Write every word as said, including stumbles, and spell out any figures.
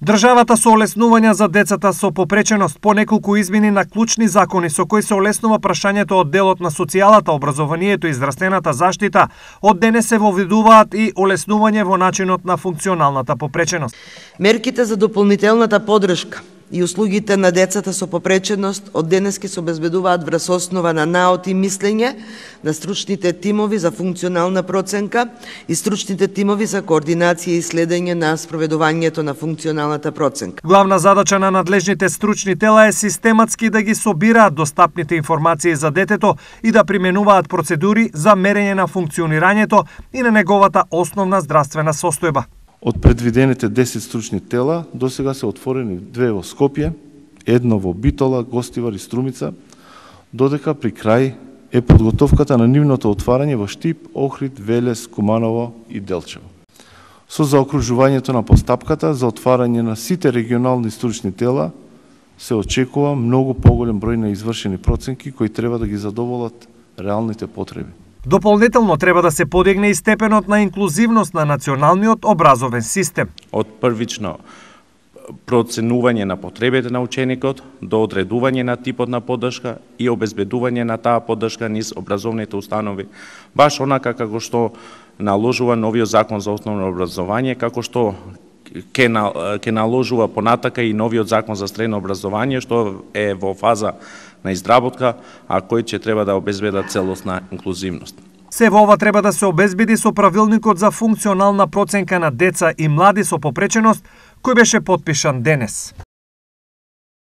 Државата со олеснувања за децата со попреченост по неколку измени на клучни закони со кои се олеснува прашањето од делот на социјалата, образованието и здравствената заштита, од денес се воведуваат и олеснување во начинот на функционалната попреченост. Мерките за дополнителната поддршка и услугите на децата со попреченост од денес ќе се обезбедуваат врз основа на наот и мислење на стручните тимови за функционална проценка и стручните тимови за координација и следење на спроведувањето на функционалната проценка. Главна задача на надлежните стручни тела е систематски да ги собираат достапните информации за детето и да применуваат процедури за мерење на функционирањето и на неговата основна здравствена состојба. Од предвидените десет стручни тела, досега се отворени две во Скопје, едно во Битола, Гостивар и Струмица, додека при крај е подготовката на нивното отварање во Штип, Охрид, Велес, Куманово и Делчево. Со заокружувањето на постапката за отварање на сите регионални стручни тела, се очекува многу поголем број на извршени проценки кои треба да ги задоволат реалните потреби. Дополнително треба да се подигне и степенот на инклузивност на националниот образовен систем. Од првично проценување на потребите на ученикот до одредување на типот на поддршка и обезбедување на таа поддршка низ образовните установи, баш онака како што наложува новиот закон за основно образование, како што ќе ќе наложува понатака и новиот закон за средно образование, што е во фаза на изработка, а кој ќе треба да обезбеда целосна инклузивност. Се во ова треба да се обезбеди со правилникот за функционална проценка на деца и млади со попреченост, кој беше потпишан денес.